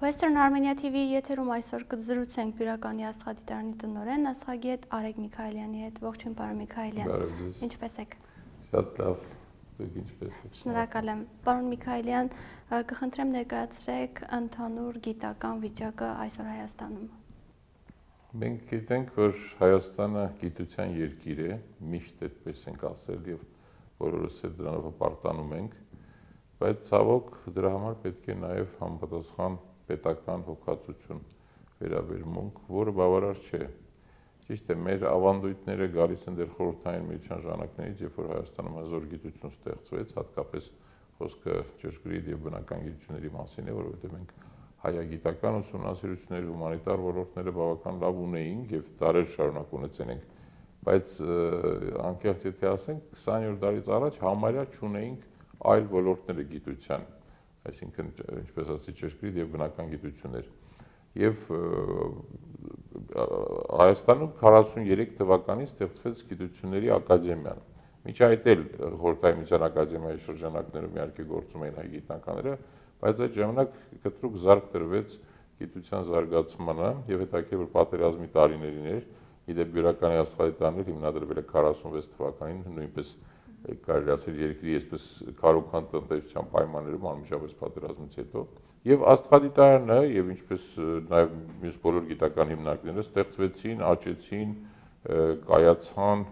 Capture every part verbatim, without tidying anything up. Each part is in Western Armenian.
Western Armenia T V եթերում այսօր կզրուցենք Բիւրականի աստղադիտարանի տնօրէն, աստղագետ Արեգ Միքայելյանի հետ։ Ողջույն, պարոն Միքայելյան։ Բարև ձեզ։ Ինչպե՞ս եք։ Շատ լավ, դուք ինչպե՞ս եք։ Շնորհակալ եմ։ Պարոն Միքայելյան, ը, կխնդրեմ ներկայացրեք ընդհանուր գիտական վիճակը այսօր Հայաստանում։ Մենք գիտենք, որ Հայաստանը գիտության երկիր է, միշտ այդպես ենք ասել եւ բոլորս էլ դրանով հպարտանում ենք, բայց ցավոք դրա համար պետք է նաեւ համապատասխան պետական հոգացություն, վերաբերմունք, որը բավարար չէ։ Ճիշդ է, մեր ավանդույթները գալիս են դեռ խորհրդային միության ժամանակներից, երբ որ Հայաստանում հզոր գիտություն ստեղծվեց, հատկապես խոսքը ճշգրիտ եւ բնական գիտությունների մասին է, որովհետեւ մենք հայագիտական ուսումնասիրություններ, հումանիտար ոլորտները բավական լավ ունեինք եւ դարեր շարունակ ունեցել ենք, բայց, ը, անկեղծ եթե ասենք, քսանյոթ տարուց առաջ համարյա չունեինք այլ ոլորտները գիտության, այսինքն, ինչպես ասեցի, ճշգրիտ եւ բնական գիտություններ։ Եւ, ը, Հայաստանում քառասուններեք թվականին ստեղծվեց Գիտությունների Ակադեմիան։ Մինչ այդ էլ Խորհրդային Միության Ակադեմիայի շրջանակներում իհարկե գործում էին հայ գիտնականները, բայց այդ ժամանակ կտրուկ զարկ տրվեց գիտության զարգացմանը եւ հետաքրքիր, որ պատերազմի տարիներին էր, ի դեպ, Բիւրականի աստղադիտարան հիմնադրվել է քառասունվեց թվականին, նոյնպէս, կարելի ասել, երկրի այսպես քարոզչական տնտեսության պայմաններում, անմիջապես պատերազմից հետո։ Եւ աստղադիտարանը, եւ ինչպես, ը, նաեւ մյուս բոլոր գիտական հիմնարկները ստեղծվեցին, աճեցին, ը, կայացան,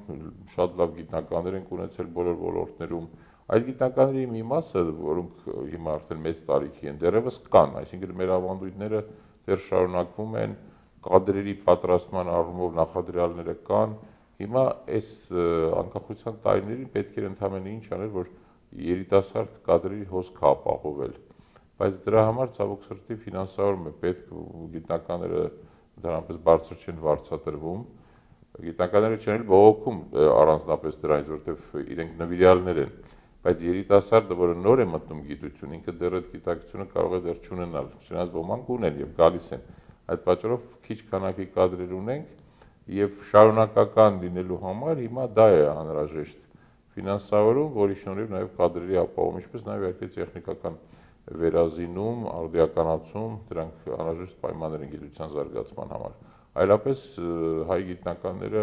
շատ լավ գիտնականներ ենք ունեցել բոլոր ոլորտներում։ Այդ գիտնականների մի մասը, որոնք, ը, հիմա արդեն մեծ տարիքի են, դեռեւս կան, այսինքն՝ մեր ավանդույթները դեռ շարունակվում են, կadrերի պատրաստման առումով նախադրյալները կան։ Հիմա այս, ը, անկախության տարիներին պետք էր ընդամենը ինչ անել, որ երիտասարդ կadrերի հոսքը ապահովել։ Բայց դրա համար, ցավոք սրտի, ֆինանսավորումը պետք, գիտնականները ընդհանրապես բարձր չեն վարձատրվում։ Գիտնականները չեն էլ բողոքում, ը, առանձնապես դրանից, որտեվ իրենք նվիրյալներ են, բայց երիտասարդը, որը նոր է մտնում գիտություն, ինքը դեռ այդ գիտակցությունը կարող է դեռ չունենալ, չնայած ոմանք ունեն եւ գալիս են։ Այդ պատճառով քիչ քանակի կadrեր ունենք եւ շարունակական լինելու համար հիմա դա է անհրաժեշտ ֆինանսավորում, որի շնորհիվ նաեւ կadrերի ապահովում, ինչպես նաեւ իհարկե տեխնիկական վերազինում, արդիականացում, դրանք անհրաժեշտ պայմաններ են գիտության զարգացման համար։ Այլապես, ը, հայ գիտնականները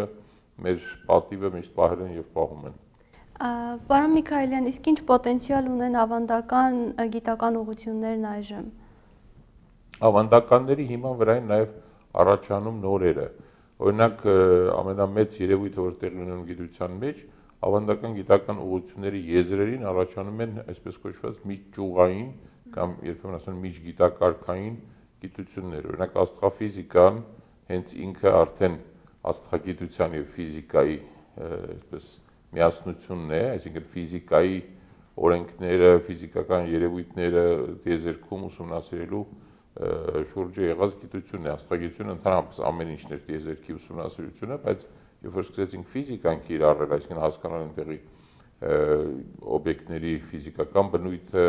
մեր պատիվը միշտ պահել են եւ պահում են։ Ա, պարոն Միքայելյան, իսկ ինչ պոտենցիալ ունեն ավանդական, ը, գիտական ուղղություններն այժմ։ Ավանդականների հիման վրայ են նաեւ առաջանում նորերը։ Օրինակ, ը, ամենամեծ երեւոյթը, որ տեղի ունենում գիտության մեջ, ավանդական գիտական ուղղությունների եզրերին առաջանում են այսպես կոչուած միջճյուղային կամ երբեմն ասում են միջգիտակարգային գիտություններ։ Օրինակ, աստղաֆիզիկան հենց ինքը արդեն աստղագիտության եւ ֆիզիկայի, ը, այսպես, միասնությունն է, այսինքն՝ ֆիզիկայի օրենքները, ֆիզիկական երևույթները տիեզերքում ուսումնասիրելու, ը, շուրջը եղած գիտությունն է։ Աստղագիտությունը ընդհանրապես ամեն ինչն էր տիեզերքի ուսումնասիրությունը, բայց երբ որ սկսեցինք ֆիզիկան կիրառել, այսինքն՝ հասկանալ այնտեղի, ը, օբյեկտների ֆիզիկական բնույթը,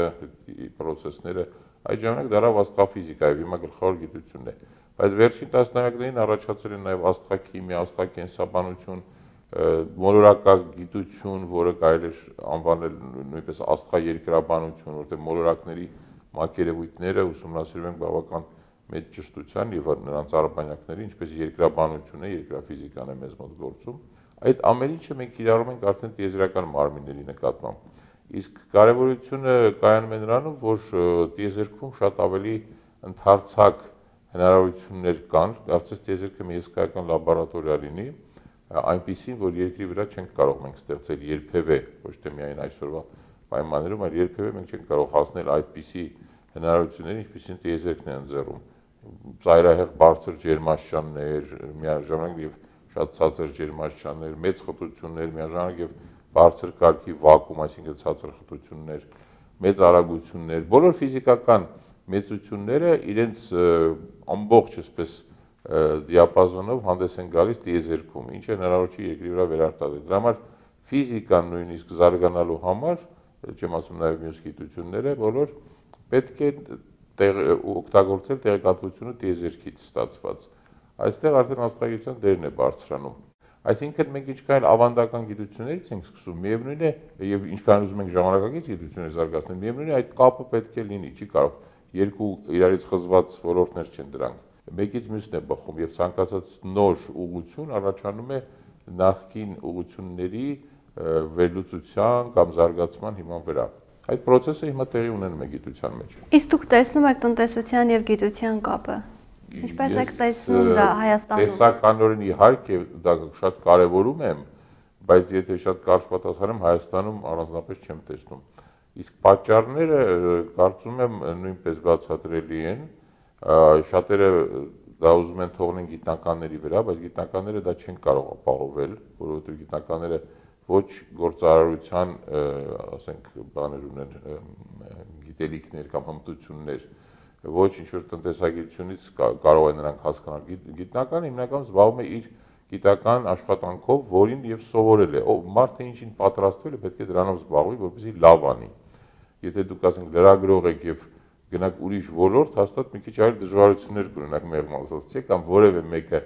պրոցեսները, այդ ժամանակ դարավ աստղաֆիզիկա եւ հիմա գլխավոր գիտությունն է։ Բայց վերջին տասնամյակներին առաջացել են նաեւ աստղաքիմիա, աստղակենսաբանություն, ը, մոլորակագիտություն, որը կարելի էր անվանել նույնպես աստղաերկրաբանություն, որտեղ մոլորակների մակերևույթները ուսումնասիրում են բավական մեծ ճշտության եւ նրանց արբանյակները, ինչպես երկրաբանությունը, երկրաֆիզիկան է մեզ մոտ գործում։ Այդ ամեն ինչը մենք կիրառում ենք արդեն տիեզերական մարմինների նկատմամբ։ Իսկ կարեւորությունը կայանում է նրանում, որ, ը, տիեզերքում շատ ավելի ընդարձակ հնարավորություններ կան, կարծես տիեզերքը մի հսկայական լաբորատորիա լինի, ա, այնպիսին, որ երկրի վրա չենք կարող մենք ստեղծել երբեւէ, ոչ թե միայն այսօրվա պայմաններում, այլ երբեւէ մենք չենք կարող հասնել այդպիսի հնարավորությունների, ինչպիսին տիեզերքն է ընձեռում։ Ծայրահեղ բարձր ջերմաստիճաններ, միաժամանակ եւ շատ ցածր ջերմաստիճաններ, մեծ խտություններ, միաժամանակ եւ բարձր կարգի վակուում, այսինքն՝ ցածր խտություններ, մեծ արագություններ, բոլոր ֆիզիկական մեծությունները իրենց, ը, ամբողջ, այսպես, ը, դիապազոնով հանդես են գալիս տիեզերքում, ինչը հնարավոր չի երկրի վրա վերարտադրել։ Դրա համար ֆիզիկան նույնիսկ զարգանալու համար, չեմ ասում նաեւ մյուս գիտությունները, բոլոր պետք է տեղ-, օգտագործել տեղեկատվությունը տիեզերքից ստացված։ Այստեղ արդեն աստղագիտության դերն է բարձրանում։ Այսինքն՝ մենք ինչքան էլ ավանդական գիտություններից ենք սկսում, միևնույն է, եւ ինչքան ուզում ենք ժամանակակից գիտություններ զարգացնել, միևնույն է, այդ կապը պետք է լինի, չի կարող Երկու իրարից խզված ոլորտներ չեն դրանք։ Մեկից մյուսն է բխում, եւ ցանկացած նոր ուղղություն առաջանում է նախկին ուղղությունների, ը, վերլուծության կամ զարգացման հիման վրա։ Այդ process-ը հիմա տեղի ունենում է գիտության մեջ։ Իսկ դուք տեսնում եք տնտեսության եւ գիտության կապը։ Ինչպես եք Ես, տեսնում ը, դա Հայաստանում։ Տեսականորեն իհարկե դա շատ կարեւորում եմ, բայց եթե շատ կարճ պատասխանեմ, Հայաստանում առանձնապես չեմ տեսնում։ Իսկ պատճառները, ը, կարծում եմ, նոյնպես բացատրելի են։ Ա, շատերը դա ուզում են թողնեն գիտնականների վրա, բայց գիտնականները դա չեն կարող ապահովել, որովհետեւ գիտնականները ոչ գործարարության, ը, ասենք, բաներ ունեն, ը, գիտելիքներ կամ հմտություններ, ոչ ինչ որ տնտեսագիտությունից կա-, կարող են նրանք հասկանալ։ Գիտ-, գիտնական հիմնականում զբաղվում է իր գիտական աշխատանքով, որին եւ սովորել է։ Ով մարդը ինչին պատրաստվել է, պետք է դրանով զբաղվի, որպեսզի լավ անի։ Եթե դուք, ասենք, լրագրող եք եւ գնաք ուրիշ ոլորտ, հաստատ մի քիչ այլ դժվարություններ կունենաք, մեղմ ասած, չէ՞, կամ որեւէ մեկը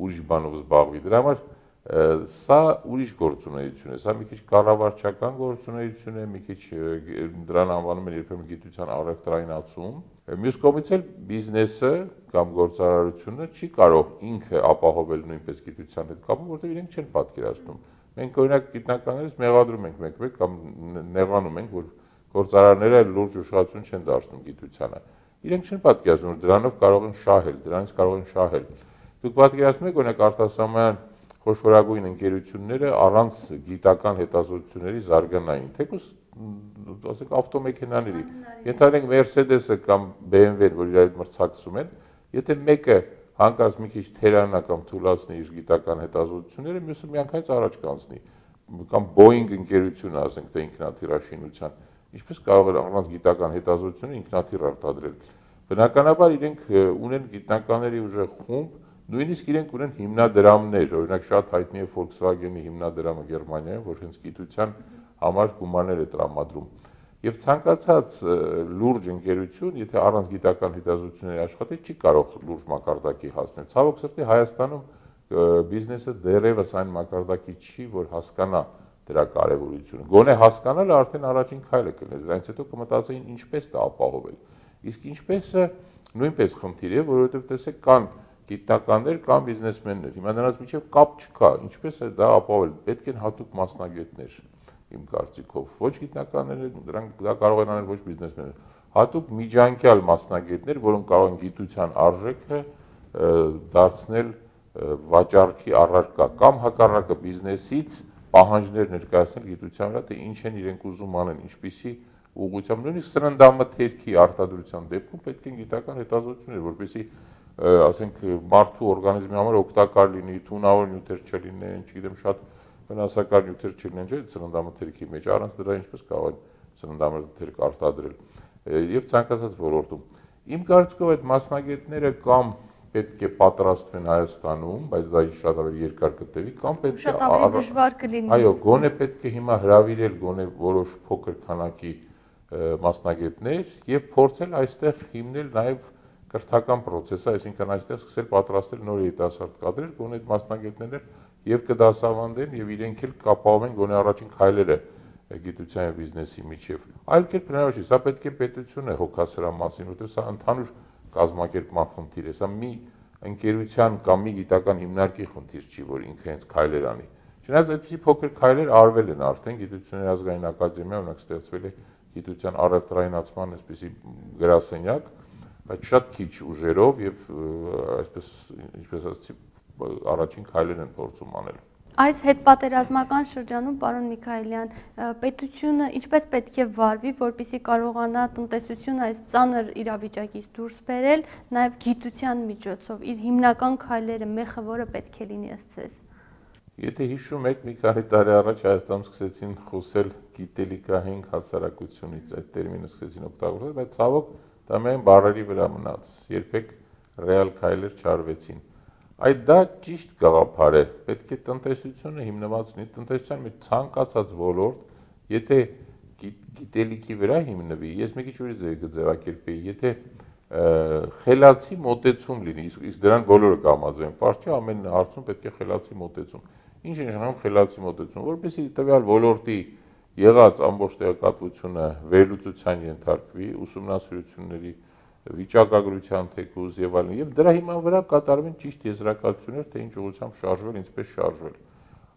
ուրիշ բանով զբաղվի։ Դրա համար, ը, սա ուրիշ գործունեություն է, սա մի քիչ կառավարչական գործունեություն է, մի քիչ, ը, դրան անվանում են երբեմն գիտության առեւտրայնացում։ Մյուս կողմից էլ բիզնեսը կամ գործարարությունը չի կարող ինքը ապահովել նոյնպես գիտության հետ կապը, որտեղ իրենք չեն պատկերացնում։ Մենք, օրինակ, գիտնականներս մեղադրում ենք մեկ-մեկ կամ ն-, նեղանում ենք, որ գործարարները լուրջ ուշադրություն չեն դարձնում գիտությանը։ Իրենք չեն պատկերացնում, որ դրանով կարող են շահել, դրանից կարող են շահել։ Դուք պատկերացնում եք, օրինակ, արտասահմանյան խոշորագույն ընկերությունները առանց գիտական հետազոտությունների զարգանային, թեկուզ, մ, ասենք, ավտոմեքենաների, Մաքենաների։ Ենթադրենք Mercedes-ը կամ B M W-ն, որ իրար հետ մրցակցում են, եթե մեկը հանկարծ մի քիչ թերանայ կամ թուլացնի իր գիտական հետազոտությունները, մյուսը միանգամից առաջ կանցնի, կամ Boeing ընկերությունը, ասենք, թե ինքնաթիռաշինության, ինչպես կարող էր առանց գիտական հետազոտությունը ինքնաթիռ արտադրել։ Բնականաբար իրենք, ը, ունեն գիտնականների ուժեղ խումբ, նոյնիսկ իրենք ունեն հիմնադրամներ, օրինակ, շատ հայտնի է Volkswagen-ի հիմնադրամը Գերմանիայում, որ հենց գիտության համար գումարներ է տրամադրում։ Եւ ցանկացած, ը, լուրջ ընկերություն, եթե առանց գիտական հետազոտությունների աշխատի, չի կարող լուրջ մակարդակի հասնել։ Ցավոք սրտի, Հայաստանում, ը, բիզնեսը դեռեւս այն մակարդակի չի, որ հասկանայ դրա կարեւորությունը։ Գոնե հասկանալը արդեն առաջին քայլը կլինի, դրանից հետո կմտածեին ինչպես դա ապահովել։ Իսկ ինչպեսը նոյնպես խնդիր է, որովհետեւ, տեսեք, կան գիտնականներ, կան բիզնեսմեններ։ Հիմա նրանց միջեւ կապ չկա, ինչպես է դա ապահովել, պետք են հատուկ մասնագետներ, իմ կարծիքով։ Ոչ գիտնականներ, դրանք դա կարող են անել ոչ բիզնեսմեններ, հատուկ միջանկյալ մասնագետներ, որոնք կարող են գիտության արժեքը, ը, դարձնել, ը, վաճառքի առարկա կամ, հակառակը, բիզնեսից պահանջներ ներկայացնել գիտության վրա, թե ինչ են իրենք ուզում անեն, ինչպիսի ուղղությամբ, նոյնիսկ սննդամթերքի արտադրության դեպքում պետք են գիտական հետազոտություններ, որպեսզի, ը, ասենք, մարդու օրգանիզմի համար օգտակար լինի, թունավոր նիւթեր չլինեն, չգիտեմ, շատ վնասակար նիւթեր չլինեն, չէ՞, սննդամթերքի մեջ, առանց դրա ինչպես կարող են սննդամթերք արտադրել, ը, եւ ցանկացած ոլորտում։ Իմ կարծիքով, այդ մասնագետները կամ պետք է պատրաստվեն Հայաստանում, բայց դա շատ ավելի երկար կտեւի, կամ պետք է Շատ ավելի առ-, դժվար կլինի։ Այո, գոնե պետք է հիմա հրավիրել գոնե որոշ փոքր քանակի, ը, մասնագետներ եւ փորձել այստեղ հիմնել նաեւ կրթական process-ը, այսինքն այստեղ սկսել պատրաստել նոր երիտասարդ կadr-եր, գոնե այդ մասնագետներն էլ եւ կդասավանդեն եւ իրենք էլ կապահովեն գոնե առաջին քայլերը, ը, գիտության եւ բիզնեսի միջեւ։ Այլ կերպ հնարավոր չի, սա պետք է պետությունը հոգա սրա մասին, որտեղ սա ընդհանուր կազմակերպման խնդիր է, սա մի ընկերության կամ մի գիտական հիմնարկի խնդիր չի, որ ինքը հենց քայլեր անի։ Չնայած այդպիսի փոքր քայլեր արվել են արդեն, Գիտությունների ազգային ակադեմիա, օրինակ, ստեղծվել է գիտության առեւտրայնացման այսպիսի գրասենյակ, բայց շատ քիչ ուժերով եւ, ը, այսպես, ինչպես ասացի, առաջին քայլեր են փորձում անել։ Այս հետպատերազմական շրջանում, պարոն Միքայելյան, ը, պետությունը ինչպես պետք է վարվի, որպեսզի կարողանա տնտեսությունը այս ծանր իրավիճակից դուրս բերել, նաեւ գիտության միջոցով իր հիմնական քայլերը, մեխը որը պետք է լինի ըստ ձեզ։ Եթե հիշում եք, մի քանի տարի առաջ Հայաստանում սկսեցին խոսել գիտելիքահենք հասարակությունից, այդ տերմինը սկսեցին օգտագործել, բայց, ցավոք, դա միայն բառերի վրա մնաց, երբեք ռեալ քայլեր չարվեցին։ Այդ դա ճիշտ գաղափար է, պետք է տնտեսությունը հիմնված լինի, տնտեսության մեջ ցանկացած ոլորտ, եթե գի-, գիտելիքի վրա հիմնվի, ես մի քիչ ուրիշ ձև կձևակերպեի, եթե, ը, խելացի մոտեցում լինի, իսկ, իսկ դրան բոլորը կհամաձայնեն, պարզ չէ, ամեն հարցում պետք է խելացի մոտեցում։ Ինչ է նշանակում խելացի մոտեցում, որպեսզի տվյալ ոլորտի եղած ամբողջ տեղեկատվությունը վերլուծության ենթարկվի, ուսումնասիրությունների, վիճակագրութեան թեկուզ եւ այլն, եւ դրա հիման վրայ կատարուին ճիշտ եզրակացութիւններ, թե ինչ ուղղութեամբ շարժուել, ինչպէս շարժուել։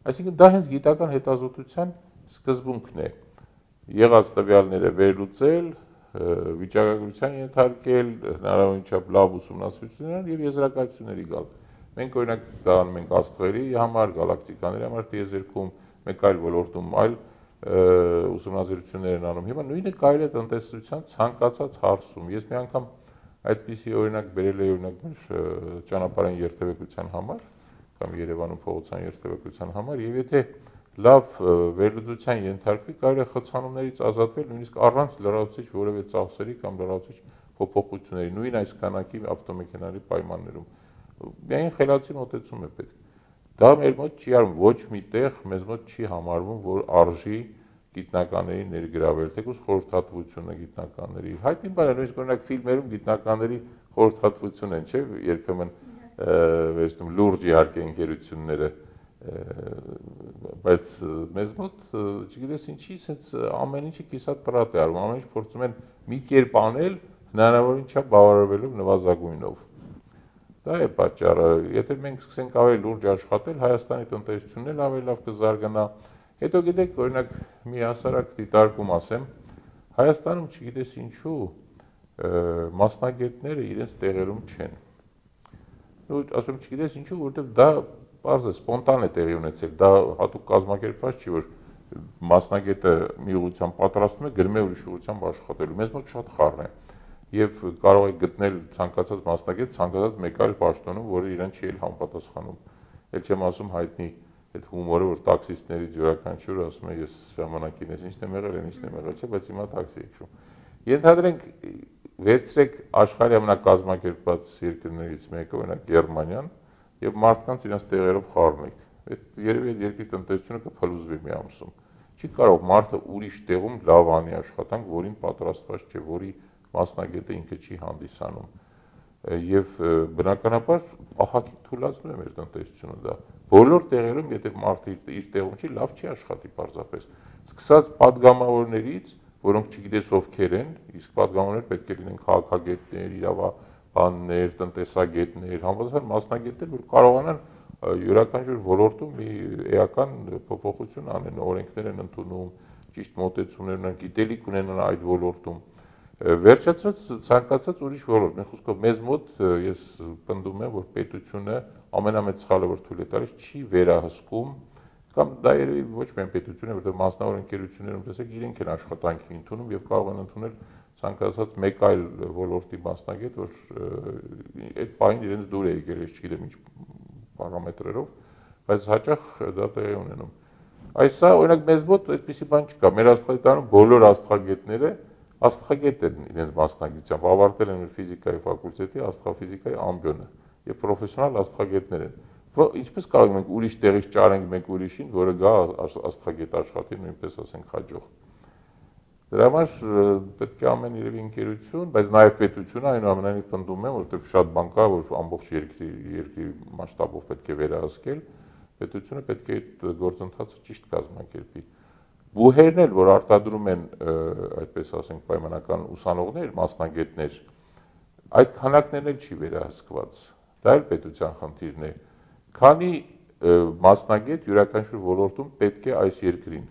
Այսինքն, դա հենց գիտական հետազոտութեան սկզբունքն է։ Եղած տվեալները վերլուծել, ը, վիճակագրութեան ենթարկել, հնարաւորին չափ լաւ ուսումնասիրութիւններ եւ եզրակացութիւնների գալ։ Մենք, օրինակ, դա անում ենք աստղերի համար, գալակտիկաների համար, տիեզերքում, մեկ այլ ոլորտում այլ, ը, ուսումնասիրութիւններ են անում։ Հիմա նոյնը կարելի է տնտեսության ցանկացած հարցում։ Ես մի անգամ այդպիսի օրինակ բերել էի, օրինակ, մեր, ը, ճանապարհային երթեւեկության համար, կամ Երեւանում փողոցային երթեւեկության համար, եւ եթե լաւ, ը, վերլուծության ենթարկուի, կարելի է խցանումներից ազատվել նոյնիսկ առանց լրացուցիչ որեւէ ծախսերի կամ լրացուցիչ փոփոխությունների, նոյն այս քանակի ավտոմեքենաների պայմաններում։ Միայն խելացի մոտեցում է պետք։ Դա մեր մոտ չի արվում, ոչ մի տեղ մեզ մոտ չի համարվում, որ արժի գիտնականների ներգրավել, թեկուզ խորհրդատվությունը գիտնականների։ Յայտնի բան է, նոյնիսկ, օրինակ, ֆիլմերում գիտնականների խորհրդատվություն են, չէ՞, երբեմն, ը, վերցնում, լուրջ իհարկե ընկերությունները, ը, բայց, ը, մեզ մոտ, ը, չգիտես ինչի, սենց ամեն ինչը կիսատ պրատ է արվում, ամեն ինչ փորձում են մի կերպ անել, հնարավորին չափ բավարարվելով նվազագույնով։ Դա է պատճառը, եթե մենք սկսենք ավելի լուրջ աշխատել, Հայաստանի տնտեսությունն էլ ավելի լավ կզարգանա։ Հետո, գիտեք, օրինակ, մի հասարակ դիտարկում ասեմ, Հայաստանում, չգիտես ինչու, ը, մասնագետները իրենց տեղերում չեն։ Ու ասում, չգիտես ինչու, որովհետեւ դա պարզ է, սպոնտան է տեղի ունեցել, դա հատուկ կազմակերպված չի, որ մասնագետը մի ուղղությամբ պատրաստում է, գրում է ուրիշ ուղղությամբ աշխատելու։ Մեզ մոտ շատ խառն է։ Եվ կարող է գտնել ցանկացած մասնագետ, ցանկացած մեկ այլ պաշտոնում, որը իրեն չի էլ համապատասխանում։ Էլ չեմ ասում հայտնի այդ հումորը, որ տաքսիստներից յուրաքանչյուր ասում է, «Ես ժամանակին ես ինչն եմ եղել, են ինչն եմ եղել», չէ, բայց հիմա տաքսի եք շում։ Ենթադրենք, վերցրեք աշխարհի ամենակազմակերպված երկրներից մեկը, օրինակ, Գերմանիան, եւ մարդկանց իրենց տեղերով խառնեք։ Այդ, երևի այդ երկրի տնտեսությունը կփլուզվի մի ամսում։ Չի կարող մարդը ուրիշ տեղում լաւ անի աշխատանք, որին պատրաստված չէ, որի մասնագետը ինքը չի հանդիսանում։ Ը, եւ, ը, բնականաբար, ահագին թուլացնում է մեր տնտեսությունը դա։ Բոլոր տեղերում, եթե մարդը իր, իր տեղում չի, լաւ չի աշխատի պարզապես։ Սկսած պատգամավորներից, որոնք չգիտես ովքեր են, իսկ պատգամավորներ պետք է լինեն քաղաքագետներ, իրավաբաններ, տնտեսագետներ, համապատասխան մասնագետներ, որ կարողանան, ը, յուրաքանչյուր ոլորտում մի էական փոփոխություն անեն, օրենքներ են ընդունում, ճիշտ մոտեցումներ ունեն, գիտելիք ունենան այդ ոլորտում։ Ը, վերջացրած, ցանկացած ուրիշ ոլորտ, մի խոսքով, մեզ մոտ, ը, ես պնդում եմ, որ պետությունը ամենամեծ սխալը, որ թույլ է տալիս, չի վերահսկում, կամ դա երևի ոչ միայն պետությունը, որտեղ մասնավոր ընկերություններում, տեսեք, իրենք են աշխատանքի ընդունում եւ կարող են ընդունել ցանկացած մեկ այլ ոլորտի մասնագետ, որ, ը, այդ պահին իրենց դուր է եկել, ես չգիտեմ ինչ պարամետրերով, բայց հաճախ դա տեղի է ունենում։ Այս սա, օրինակ, մեզ մոտ այդպիսի բան չկա։ Մեր աստղադիտարանում բոլոր աստղագետները աստղագետ են իրենց մասնագիտությամբ, ավարտել են մեր ֆիզիկայի ֆակուլտետի աստղաֆիզիկայի ամբիոնը եւ պրոֆեսիոնալ աստղագետներ են։ Ո-, ինչպես կարող ենք մենք ուրիշ տեղից ճարենք մեկ ուրիշին, որը գա ա-, ա-, աստղագետ աշխատի նույնպես, ասենք, հաջող։ Դրա համար, ը, պետք է ամեն երևի ընկերություն, բայց նաեւ պետությունը, այնուամենայնիվ, պնդում է, որովհետեւ շատ բան կա, որ ամբողջ երկրի, երկրի մասշտաբով պետք է վերահսկել, պետությունը պետք է այդ գործընթացը ճիշտ կազմակերպի։ Բուհերն էլ, որ արտադրում են, ը, այդպես ասենք, պայմանական ուսանողներ, մասնագետներ, այդ քանակներն էլ չի վերահսկված։ Դա էլ պետության խնդիրն է։ Քանի, ը, մասնագետ յուրաքանչյուր ոլորտում պետք է այս երկրին։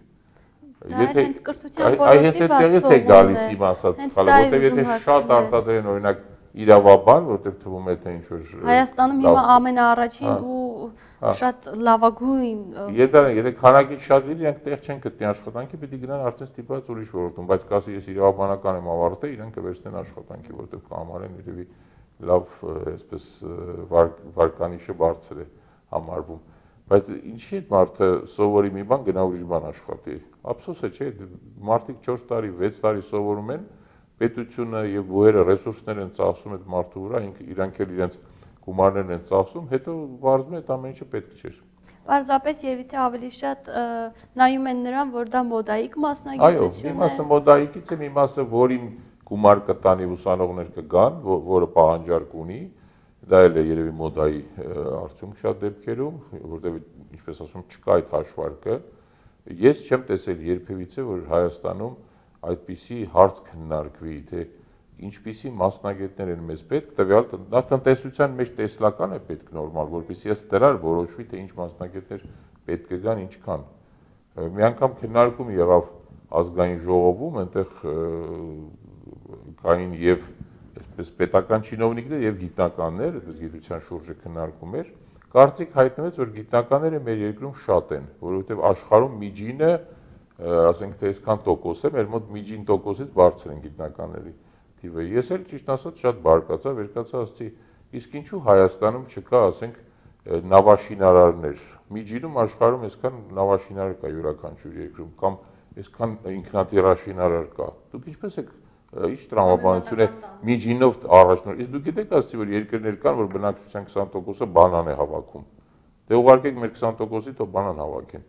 Դա էլ հենց կրթության այ, այ հենց ոլորտի այդտեղից է բացվողումն գալիս է։ Իմ ասած Հենց սխալը, դա էր որտեղ ուզում եթե շատ հարցնել։ Արտադրեն, օրինակ, իրավաբան, որտեղ թվում է, թե ինչ-որ, ը, Հայաստանում լավ հիմա ամենաառաջին Հա։ ու Հա։ շատ լավագույն, ը, Եթե, եթե քանակից շատ լինի, իրանք տեղ չեն գտնի աշխատանքի, պիտի գնան արդեն ստիպված ուրիշ ոլորտում, բայց կասի, «Ես իրավաբանական եմ ավարտել», իրանք կվերցնեն աշխատանքի, որտեղ կհամարեն երևի լավ, ը, այսպես, ը, վար-, վարկանիշը բարձր է համարվում։ Բայց ինչի՞ այդ մարդը սովորի մի բան, գնա ուրիշ բան աշխատի։ Ափսոս է, չէ՞, մարդիկ չորս տարի, վեց տարի սովորում են, պետությունը եւ բուհերը ռեսուրսներ են ծախսում այդ մարդու վրա, ինք, իրանք էլ իրենց գումարներն են ծախսում, հետո պարզվում է, այդ ամեն ինչը պետք չէր։ Պարզապես երևի թե ավելի շատ, ը, նայում են նրան, որ դա մոդայիկ Այո, մի մասնագիտություն է։ Մասը մոդայիկից է, մի մասը, որին գումար կտանի, ուսանողներ կգան, ո-, որը պահանջարկ ունի, դա էլ է երևի մոդայի, ը, արդյունք շատ դեպքերում, որտեղ, ինչպես ասում, չկա այդ հաշվարկը։ Ես չեմ տեսել երբևիցե, որ Հայաստանում այդպիսի հարց քննարկվի, թե ինչպիսի մասնագետներ են մեզ պետք, տվեալ տ-, նախ տնտեսության մեջ տեսլական է պետք նորմալ, որպեսզի ըստ դրան որոշուի, թե ինչ մասնագետներ պետք կան, ինչքան։ Ը, մի անգամ քննարկում եղավ ազգային ժողովում, այնտեղ, ը, կային եւ այսպես պետական չինովնիկներ եւ գիտնականներ, այսպես գիտության շուրջը քննարկում էր։ Կարծիք հայտնվեց, որ գիտնականները մեր երկրում շատ են, որովհետեւ աշխարհում միջինը, ը, ասենք թե այսքան տոկոս է, մեր մոտ միջին տոկոսից բարձր են գիտնականների թիվը։ Ես էլ ճիշտ ասած շատ բարկացա, վերկացա, ասացի, իսկ ինչու Հայաստանում չկա, ասենք, ը, նավաշինարարներ։ Միջինում աշխարհում այսքան նավաշինարար կա յուրաքանչյուր երկրում, կամ այսքան ինքնատիրաշինարար կա։ Դուք ինչպես եք, ը, ինչ տրամաբանություն է Անհատական տան։ Միջինով առաջնոր-, իսկ դուք գիտեք, ասացի, որ երկրներ կան, որ բնակչության քսան տոկոսը բանան է հավաքում։ Դե ուղարկեք մեր քսան տոկոսի, թող բանան հավաքեն։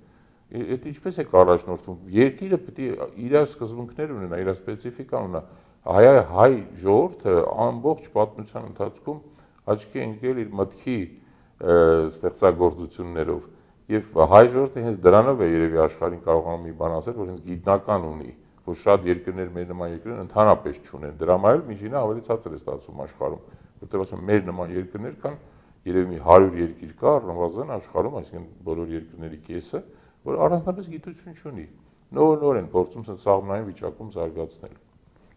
Է-, էդ ինչպես եք առաջնորդում։ Երկիրը պիտի իր սկզբունքներ ունենա, իր սպեցիֆիկան ունենա։ Հայ, հայ ժողովուրդը ամբողջ պատմության ընթացքում աչքի է ընկել իր մտքի, ը, ստեղծագործություններով։ Եւ հայ ժողովուրդը հենց դրանով է երեւի աշխարհին կարողանում մի բան ասել, որ հենց գիտնական ունի, որ շատ երկրներ, մեր նման երկրներ ընդհանրապես չունեն։ Դրա համար էլ միջինը ավելի ցածր է ստացվում աշխարհում, որտեղ ասում, մեր նման երկրներ կան երեւի մի հարյուր երկիր կա առնվազն աշխարհում, այսինքն բոլոր երկրների կեսը, որ առանձնապես գիտություն չունի։ Նոր-նոր են փորձում սենց սաղմնային վիճակում զարգացնել։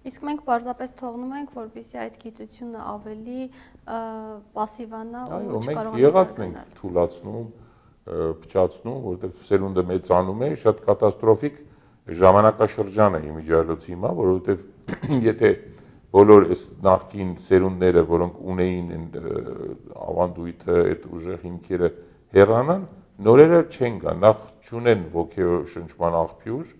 Իսկ մենք պարզապես թողնում ենք, որպեսզի այդ գիտությունը ավելի, ը, պասիվանա ու Այո, մենք չկարողանա եղածն ենք զարգանալ։ Թուլացնում, ը, փչացնում, որտեղ սերունդը մեծանում է, շատ կատաստրոֆիկ ժամանակաշրջան է իմիջիայլոց հիմա, որովհետև եթե բոլոր այս նախկին սերունդները, որոնք ունեին այն, ը, ավանդույթը, այդ ուժեղ հիմքերը հեռանան, նորերը չեն գա, նախ չունեն ոգեշնչման աղբյուր,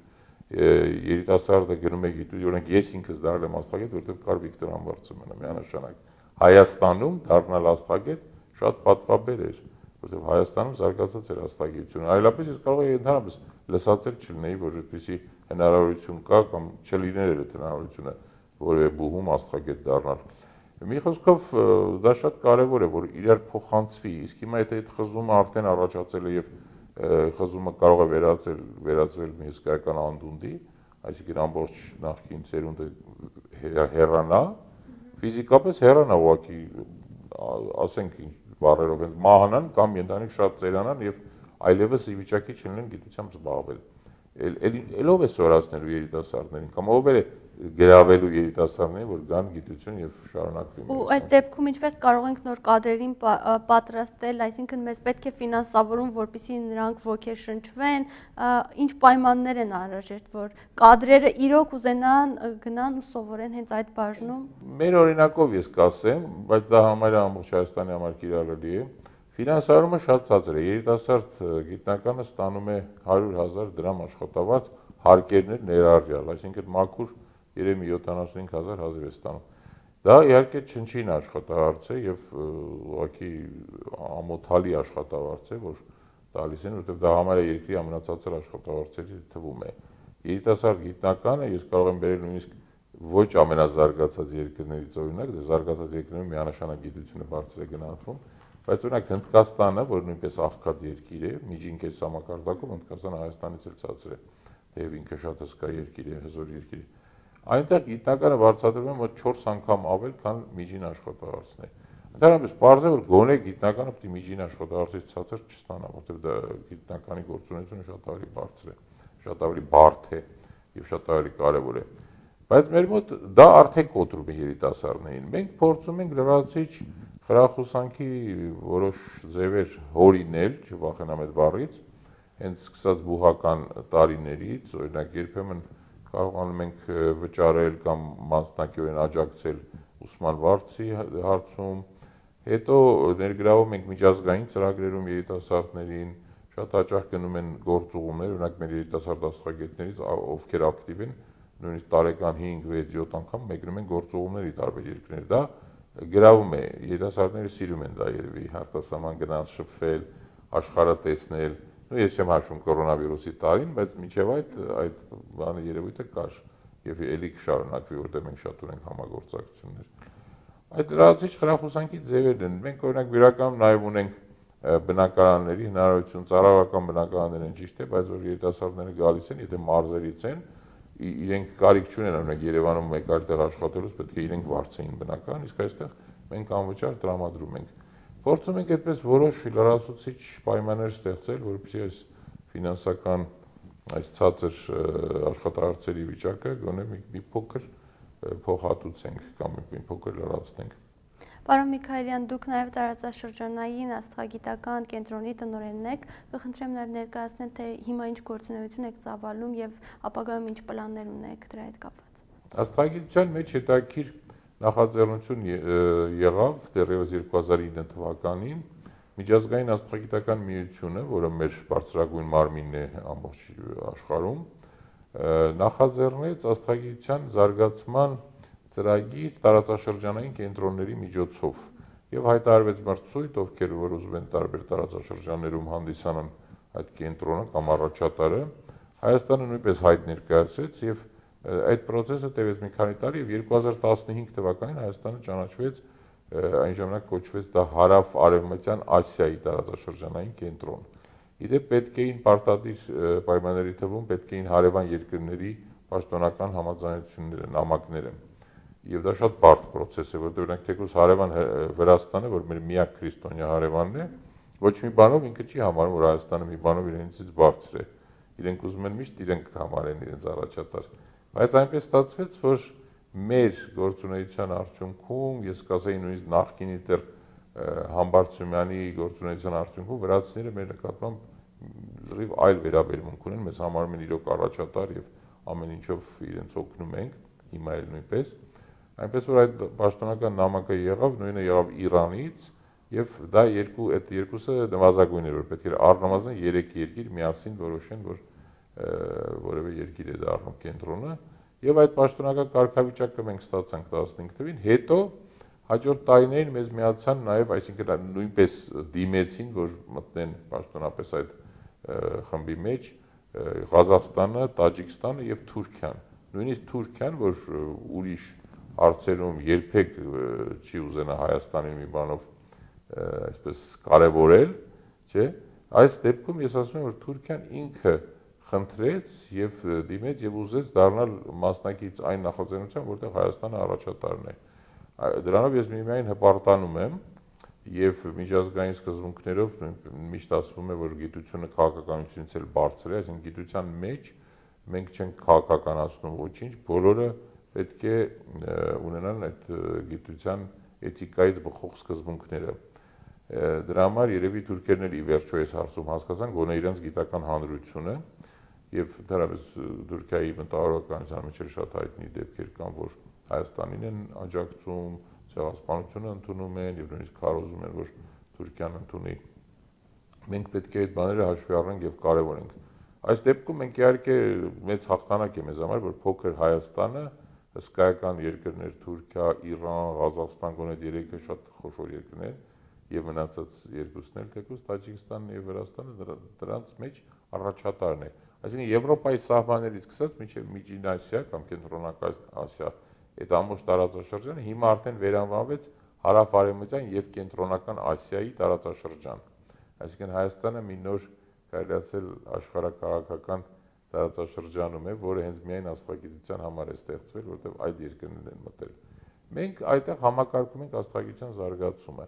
ը, երիտասարդը գնում է գիտու-, օրինակ ես ինքս դառել եմ աստղագետ, որտեղ կար Վիկտոր Համբարձումյանը, միանշանակ։ Հայաստանում դառնալ աստղագետ շատ պատվաբեր էր, որտեղ Հայաստանում զարգացած էր աստղագիտությունը, այլապես ես կարող էի ընդհանրապես լսած էլ չլինեի, որ այդպիսի հնարավորություն կա կամ չլիներ էր այդ հնարավորությունը որևէ բուհում աստղագետ դառնալ։ Մի խոսքով, ը, դա շատ կարևոր է, որ իրար փոխանցվի, իսկ հիմա եթե այդ խզումը արդեն առաջացել է եւ, ը, խզումը կարող է վերածել, վերածվել մի հսկայական անդունդի, այսինքն ամբողջ նախկին սերունդը հե-, հեռանա, ֆիզիկապես հեռանա ուղղակի, ա-, ասենք ինչ բառերով, հենց մահանան կամ ենթանիկ շատ ծերանան եւ այլեւս ի վիճակի չլինեն գիտությամբ զբաղվել։ Էլ, էլ, էլ ով է սորացնելու երիտասարդներին, կամ ով է գրավելու երիտասարդներին, որ գան գիտություն եւ շարունակվի Ու մեր այս դեպքում ինչպես կարող ենք նոր կadrերին պա-, ը, պատրաստել, այսինքն մեզ պետք է ֆինանսավորում, որպեսզի նրանք ոգեշնչվեն, ը, ինչ պայմաններ են անհրաժեշտ, որ կadrերը իրոք ուզենան, ը, գնան ու սովորեն հենց այդ բաժնում։ Մեր օրինակով ես կասեմ, բայց դա համարյա ամբողջ Հայաստանի համար կիրառելի է։ Ֆինանսավորումը շատ ցածր է։ Երիտասարդ, ը, գիտնականը ստանում է հարյուր հազար դրամ աշխատավարձ, հարկերն էլ ներառյալ, այսինքն մաքուր երևի յոթանասունհինգ հազար հազիվ է ստանում։ Դա իհարկե չնչին աշխատահարց է եւ, ը, ուղղակի ամոթալի աշխատավարձ է, որ տալիս են, որտեղ դա համարյա երկրի ամենացածր աշխատավարձերի թվում է։ Երիտասարդ գիտնականը ես կարող եմ բերել նույնիսկ ոչ ամենազարգացած երկրներից օրինակ, դե զարգացած երկրներում միանշանակ գիտությունը բարձր է գնահատվում, բայց օրինակ Հնդկաստանը, որ նույնպես աղքատ երկիր է, միջին կես համակարգով, Հնդկաստանը Հայաստանից էլ ցածր է, թեև ինքը շատ հսկայ երկիր է, հզոր երկիր է։ Այնտեղ գիտնականը վարձատրում են, որ չորս անգամ ավել, քան միջին աշխատավարձն է։ Ընդհանրապես պարզ է, որ գոնե գիտնականը պիտի միջին աշխատավարձից ցածր չստանա, որտեղ դա գիտնականի գործունեությունը շատ ավելի բարձր է, շատ ավելի բարդ է եւ շատ ավելի կարեւոր է։ Բայց մեր մոտ դա արդեն կոտրում է երիտասարդներին։ Մենք փորձում ենք լրացիչ խրախուսանքի որոշ ձևեր հորինել, չվախենամ այդ բառից, հենց սկսած բուհական տարիներից, օրինակ, երբեմն կարողանում ենք, ը, վճարել կամ մասնակիորեն աջակցել ուսման վարձի հարցում, հետո ներգրավում ենք միջազգային ծրագրերում երիտասարդներին, շատ հաճախ գնում են գործուղումներ, օրինակ, մեր երիտասարդ աստղագետներից, ա-, ովքեր ակտիվ են, նույնիսկ տարեկան հինգ, վեց, յոթ անգամ մեկնում են գործուղումների տարբեր երկրներ։ Դա գրավում է, երիտասարդները սիրում են դա երևի, արտասահման գնալ, շփվել, աշխարհը տեսնել։ Նու ես չեմ հաշվում կորոնավիրուսի տարին, բայց մինչև այդ, այդ բանը երևույթը կար եւ ելի կշարունակվի, որտեղ մենք շատ ունենք համագործակցություններ։ Այդ լրացիչ խրախուսանքի ձևերն են։ Մենք, օրինակ, իրականում նաև ունենք, ը, բնակարանների հնարավորություն, ծառայողական բնակարաններ են, ճիշտ է, բայց որ երիտասարդները գալիս են, եթե մարզերից են, իրենք կարիք չունեն, օրինակ, Երեւանում մեկ այլ տեղ աշխատելուց, պետք է իրենք վարձ էին բնական, իսկ այստեղ մենք անվճար տրամադրում ենք։ Փորձում ենք այդպես որոշ լրացուցիչ պայմաններ ստեղծել, որպեսզի այս ֆինանսական, այս ցածր, ը, աշխատահարցերի վիճակը գոնե մի, մի փոքր, ը, փոխհատուցենք կամ մի, մի փոքր լրացնենք։ Պարոն Միքայելեան, դուք նաեւ տարածաշրջանային աստղագիտական կենտրոնի տնօրենն եք, կը խնդրեմ նաեւ ներկայացնել, թե հիմա ինչ գործունեություն եք ծավալում եւ ապագայում ինչ պլաններ ունեք դրա հետ կապված։ Աստղագիտության մեջ հետաքրքիր նախաձեռնություն ե-, ը, եղաւ դեռեւս երկու հազար ինը թվականին, միջազգային աստղագիտական միությունը, որը մեր բարձրագույն մարմինն է ամբողջ աշխարհում, ը, նախաձեռնեց աստղագիտության զարգացման ծրագիր տարածաշրջանային կենտրոնների միջոցով եւ հայտարարվեց մրցույթ, ովքեր որ ուզում են տարբեր տարածաշրջաններում հանդիսանան այդ կենտրոնը կամ առաջատարը, Հայաստանը նոյնպես հայտ ներկայացրեց եւ, ը, այդ process-ը տեւեց մի քանի տարի եւ երկու հազար տասնհինգ թվականին Հայաստանը ճանաչվեց, ը, այն ժամանակ կոչվեց դա Հարաւ Արեւմտյան Ասիայի տարածաշրջանային կենտրոն։ Ի դեպ, պետք էին պարտադիր, ը, պայմանների թվում պետք էին հարեւան երկրների պաշտոնական համաձայնությունները, նամակները։ Եվ դա շատ բարդ process է, որտեղ օրինակ թեկուզ հարեւան Հ-, Վրաստանը, որ մեր միակ քրիստոնեայ հարեւանն է, ոչ մի բանով ինքը չի համարում, որ Հայաստանը մի բանով իրենցից բարձր է։ Իրենք ուզում են միշտ իրենք համարեն իրենց առաջատար։ Բայց այնպես ստացվեց, որ մեր գործունեության արդյունքում, ես կասեի նույնիսկ նախկինի դեռ, ը, Համբարձումյանի գործունեության արդյունքում վրացիները մեր նկատմամբ լրիվ այլ վերաբերմունք ունեն, մեզ համարում են իրոք առաջատար եւ ամեն ինչով իրենց օգնում ենք, հիմա էլ նոյնպես։ Այնպես որ այդ պաշտոնական նամակը եղաւ, նույնը եղաւ Իրանից, եւ դա երկու, այդ երկուսը նվազագույն էր, որ պետք էր առնվազն երեք երկիր միասին որոշեն, որ, ը, որևէ երկիր է դառնում կենտրոնը, եւ այդ պաշտոնական կարգավիճակը մենք ստացանք տասնհինգ թվին, հետո հաջորդ տարիներին մեզ միացան նաեւ, այսինքն, նոյնպես դիմեցին, որ մտնեն պաշտոնապես այդ, ը, խմբի մեջ, ը, Ղազախստանը, Տաջիկստանը եւ Թուրքիան։ Նոյնիսկ Թուրքիան, որ, ը, ուրիշ հարցերում երբեք, ը, չի ուզենա Հայաստանին մի բանով, ը, այսպես կարեւորել, չէ՞, այս դեպքում ես ասում եմ, որ Թուրքիան ինքը խնդրեց եւ, ը, դիմեց եւ ուզեց դառնալ մասնակից այն նախաձեռնության, որտեղ Հայաստանը առաջատարն է։ Ա-, դրանով ես միմիայն հպարտանում եմ եւ միջազգային սկզբունքներով նույն-, միշտ ասվում է, որ գիտությունը քաղաքականությունից էլ բարձր է, այսինքն գիտության մեջ մենք չենք քաղաքականացնում ոչինչ, բոլորը պետք է, ը, ունենան այդ, ը, գիտության էթիկայից բխող սկզբունքները։ Ը, դրա համար երևի թուրքերն էլ ի վերջո այս հարցում հասկացան, գոնե իրենց գիտական հանրությունը, եւ ընդհանրապես, ը, Թուրքիայի մտավորականության մեջ էլ շատ հայտնի դեպքեր կան, որ Հայաստանին են աջակցում, ցեղասպանությունը ընդունում են եւ նույնիսկ քարոզում են, որ Թուրքիան ընդունի։ Մենք պետք է այդ բաները հաշվի առնենք եւ կարեւորենք։ Այս դեպքում մենք իհարկե մեծ հաղթանակ է մեզ համար, որ փոքր Հայաստանը, հսկայական երկրներ՝ Թուրքիա, Իրան, Ղազախստան, գոնե այդ երեքը շատ խոշոր երկրներ, եւ մնացած երկուսն էլ, թեկուզ Տաջիկստանն եւ Վրաստանը, դրա-, դրանց մեջ առաջատարն է։ Այսինքն Եվրոպայի սահմաններից սկսած մինչեւ Միջին Ասիա կամ Կենտրոնական Ասիա, այդ ամբողջ տարածաշրջանը հիմա արդեն վերանվանվեց Հարաւարևմտյան եւ Կենտրոնական Ասիայի տարածաշրջան։ Այսինքն Հայաստանը մի նոր, կարելի ասել, աշխարհաքաղաքական տարածաշրջանում է, որը հենց միայն աստղագիտության համար է ստեղծվել, որտեղ այդ երկրներն են մտել։ Մենք այդտեղ համակարգում ենք աստղագիտության զարգացումը։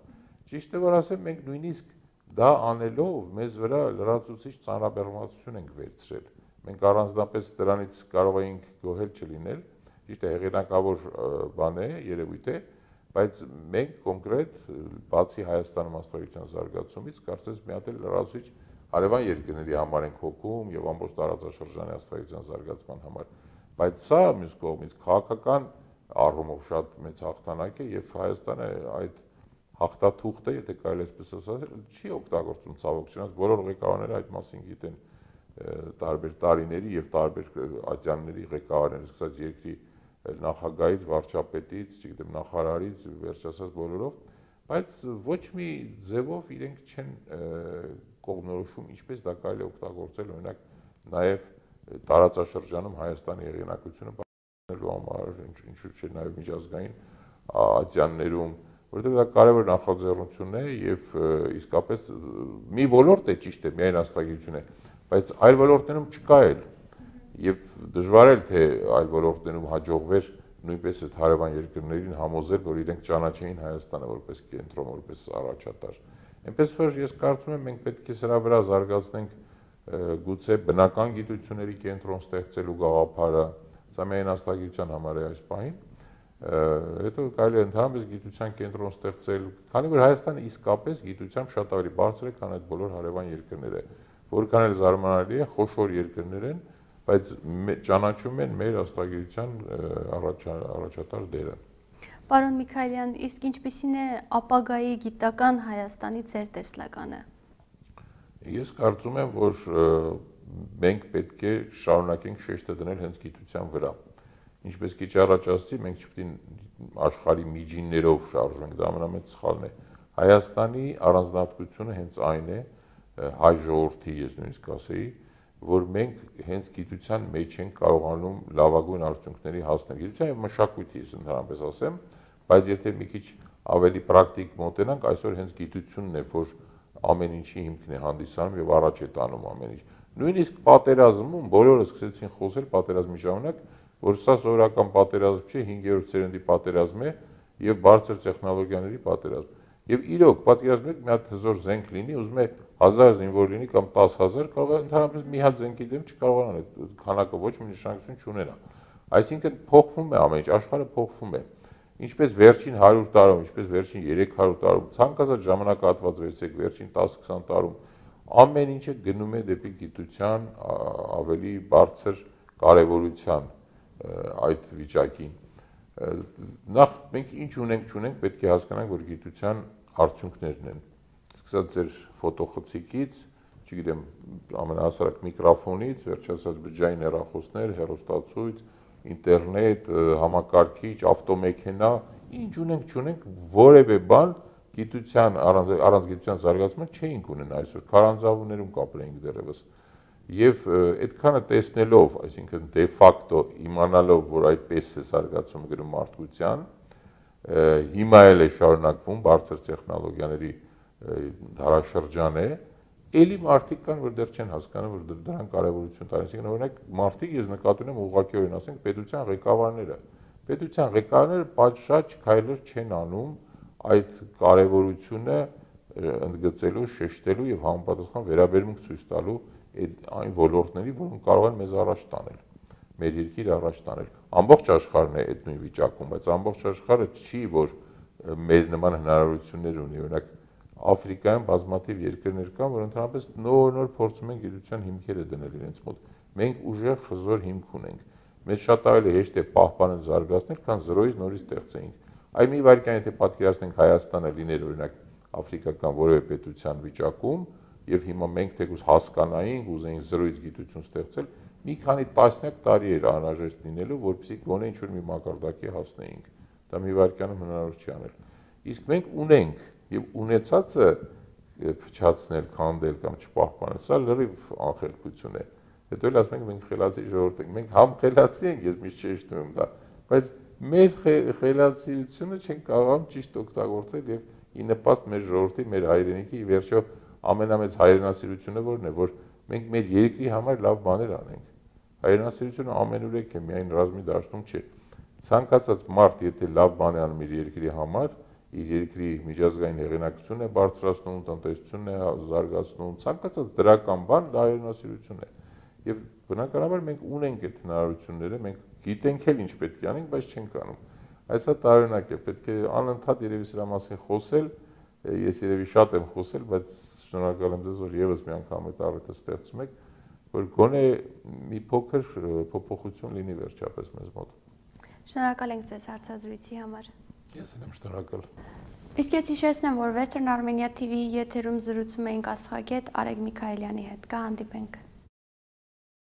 Ճիշտը որ ասեմ, մենք նույնիսկ դա անելով մեզ վրա լրացուցիչ ծանրաբեռնվածություն ենք վերցրել։ Մենք առանձնապես դրանից կարող էինք գոհել չլինել, ճիշտ է, հեղինակավոր, ը, բան է, երևույթ է, բայց մենք կոնկրետ, ը, բացի Հայաստանում աստղագիտության զարգացումից, կարծես մի հատ էլ լրացուցիչ հարեւան երկրների համար ենք հոգում եւ ամբողջ տարածաշրջանի աստղագիտության զարգացման համար։ Բայց սա, մյուս կողմից, քաղաքական առումով շատ մեծ հաղթանակ է եւ Հայաստանը այդ հաղթաթուղթը, եթե կարելի այսպես ասել, չի օգտագործում, ցավոք չնայած, բոլոր ղեկավարները այդ մասին գիտեն, ը, տարբեր տարիների եւ տարբեր, ը, ատյանների ղեկավարները, սկսած երկրի, ը, նախագահից, վարչապետից, չգիտեմ, նախարարից, վերջացած բոլորով, բայց ոչ մի ձևով իրենք չեն, ը, կողմնորոշում, ինչպես դա կարելի է օգտագործել, օրինակ, նաեւ, ը, տարածաշրջանում Հայաստանի հեղինակությունը պահպանելու համար, ինչ-, ինչու՞ չէ, նաեւ միջազգային, ա, ատյաններում, որովհետեւ դա կարեւոր նախաձեռնություն է եւ, ը, իսկապես, ը, մի ոլորտ է, ճիշտ է, միայն աստղագիտություն է, բայց այլ ոլորտներում չկա էլ։ Եւ դժուար էր, թե այլ ոլորտներում հաջողվեր նոյնպէս այդ հարեւան երկրներին համոզել, որ իրենք ճանաչեն Հայաստանը որպես կենտրոն, որպես առաջատար։ Այնպես որ ես կարծում եմ, մենք պետք է սրա վրա զարգացնենք, ը, գուցե բնական գիտությունների կենտրոն ստեղծելու գաղափարը, սա միայն աստագիտության համար է այս պահին, ը, հետո կարելի է ընդհանրապես գիտության կենտրոն ստեղծել, քանի որ Հայաստանը իսկապես գիտությամբ շատ ավելի բարձր է, քան այդ բոլոր հարեւան երկրները, որքան էլ զարմանալի է, խոշոր երկրներ են, բայց մե-, ճանաչում են մեր աստագիտության, ը, առաջա-, առաջատար դերը։ Պարոն Միքայելյան, իսկ ինչպիսին է ապագայի գիտական Հայաստանի ձեր տեսլականը։ Ես կարծում եմ, որ, ը, մենք պետք է շարունակենք շեշտը դնել հենց գիտության վրա։ Ինչպես քիչ առաջ ասացի, մենք չպետք է աշխարհի միջիններով շարժենք, դա ամենամեծ սխալն է։ Հայաստանի առանձնահատկությունը հենց այն է, ը, հայ ժողովրդի, ես նույնիսկ կասեի, որ մենք հենց գիտության մեջ ենք կարողանում լավագույն արդյունքների հասնել։ Գիտության եւ մշակույթի, ես ընդհանրապես ասեմ, բայց եթե մի քիչ ավելի պրակտիկ մոտենանք, այսօր հենց գիտությունն է, որ ամեն ինչի հիմքն է հանդիսանում եւ առաջ է տանում ամեն ինչ։ Նույնիսկ պատերազմում բոլորը սկսեցին խոսել պատերազմի ժամանակ, որ սա սովորական պատերազմ չէ, հինգերորդ սերնդի պատերազմ է եւ բարձր տեխնոլոգիաների պատերազմ։ Եվ իրոք, պատկերացնեք, մի հատ հզոր զենք լինի, ուզում է հազար զինվոր լինի կամ տաս հազար, կարող է ընդհանրապես մի հատ զենքի դեմ չկարողանան այդ քանակը, ոչ մի նշանակություն չունենա։ Այսինքն փոխվում է ամեն ինչ, աշխարհը փոխվում է։ Ինչպես վերջին հարյուր տարում, ինչպես վերջին երեք հարյուր տարում, ցանկացած ժամանակահատված վերցրեք, վերջին տաս քսան տարում, ամեն ինչը գնում է դեպի գիտության, ա-, ավելի բարձր կարեւորության, ը, այդ վիճակին։ Ը, նախ մենք ինչ ունենք, չունենք, պետք է հասկանանք, որ գիտության արդյունքներն են։ Սկսած ձեր ֆոտոխցիկից, չգիտեմ, ամենահասարակ միկրոֆոնից, վերջացած բջջային հեռախոսներ, հեռուստացոյց, ինտերնետ, ը, համակարգիչ, ավտոմեքենա, ինչ ունենք, չունենք, որևէ բան գիտության, առանց, առանց գիտության զարգացման չէինք ունենա այսօր, քարանձաւուներում կապրեինք դեռևս։ Եվ, ը, այդքանը տեսնելով, այսինքն դե ֆակտո իմանալով, որ այդպես է զարգացում գնում մարդկության, ը, հիմա էլ է շարունակվում, բարձր տեխնոլոգիաների, ը, դարաշրջան է, էլի մարդիկ կան, որ դեռ չեն հասկանում, որ դր-, դրան կարևորություն տալիս են։ Օրինակ, մարդիկ, ես նկատի ունեմ, ուղղակիորեն, ասենք, պետության ղեկավարները։ Պետության ղեկավարները պատշաճ քայլեր չեն անում այդ կարևորությունը, ը, ընդգծելու, շեշտելու եւ համապատասխան վերաբերմունք ցոյց տալու այդ այն ոլորտների, որոնք կարող են մեզ առաջ տանել, մեր երկիր առաջ տանել։ Ամբողջ աշխարհն է այդ նույն վիճակում, բայց ամբողջ աշխարհը չի, որ, ը, մեր նման հնարավորություններ ունի։ Օրինակ, Աֆրիկայում բազմաթիվ երկրներ կան, որ ընդհանրապես նոր-նոր փորձում են գիտության հիմքերը դնել իրենց մոտ։ Մենք ուժեղ, հզոր հիմք ունենք։ Մեզ շատ ավելի հեշտ է պահպանել, զարգացնել, քան զրոյից նորից ստեղծենք։ Այ մի վայրկյան, եթե պատկերացնենք Հայաստանը լիներ, օրինակ, աֆրիկական որևէ պետության վիճակում, եւ հիմա մենք թեկուզ հասկանայինք, ուզեինք զրոյից գիտություն ստեղծել, մի քանի տասնյակ տարի էր անհրաժեշտ լինելու, որպեսզի գոնե ինչ-որ մի մակարդակի հասնեինք։ Դա մի վայրկյանում հնարավոր չի անել։ Իսկ մենք ունենք, եւ ունեցածը, ը, փչացնել, քանդել կամ չպահպանել, սա լրիվ անխելքություն է։ Հետո էլ ասում ենք, մենք խելացի ժողովուրդ ենք, մենք համ խելացի ենք, ես միշտ շեշտում եմ դա, բայց մեր խե-, խելացիությունը չենք կարողանում ճիշտ օգտագործել եւ ի նպաստ մեր ժողովրդի, մեր հայրենիքի, ի վերջո ամենամեծ հայրենասիրությունը որն է, որ մենք մեր երկրի համար լավ բաներ անենք։ Հայրենասիրությունը ամենուրեք է, միայն ռազմի դաշտում չէ։ Ցանկացած մարդ, եթե լավ բան է անում իր երկրի համար, իր երկրի միջազգային հեղինակությունն է բարձրացնում, տնտեսությունն է զարգացնում, ցանկացած դրական բան, դա հայրենասիրություն է։ Եվ բնականաբար մենք ունենք այդ հնարավորությունները, մենք գիտենք էլ ինչ պետք է անենք, բայց չենք անում։ Այս հա տարօրինակ է, պետք է անընդհատ երևի սրա մասին խոսել, ես երևի շատ եմ խոսել, բայց շնորհակալ եմ ձեզ, որ եւս մի անգամ այդ առիթը ստեղծում եք, որ գոնե մի փոքր, ը, փոփոխություն լինի վերջապես մեզ մոտ։ Շնորհակալ ենք ձեզ հարցազրույցի համար։ Ես էլ եմ շնորհակալ։ Իսկ ես հիշեցնեմ, որ Western Armenia T V-ի եթերում զրուցում էինք աստղագետ Արեգ Միքայելյանի հետ։ Կհանդիպենք։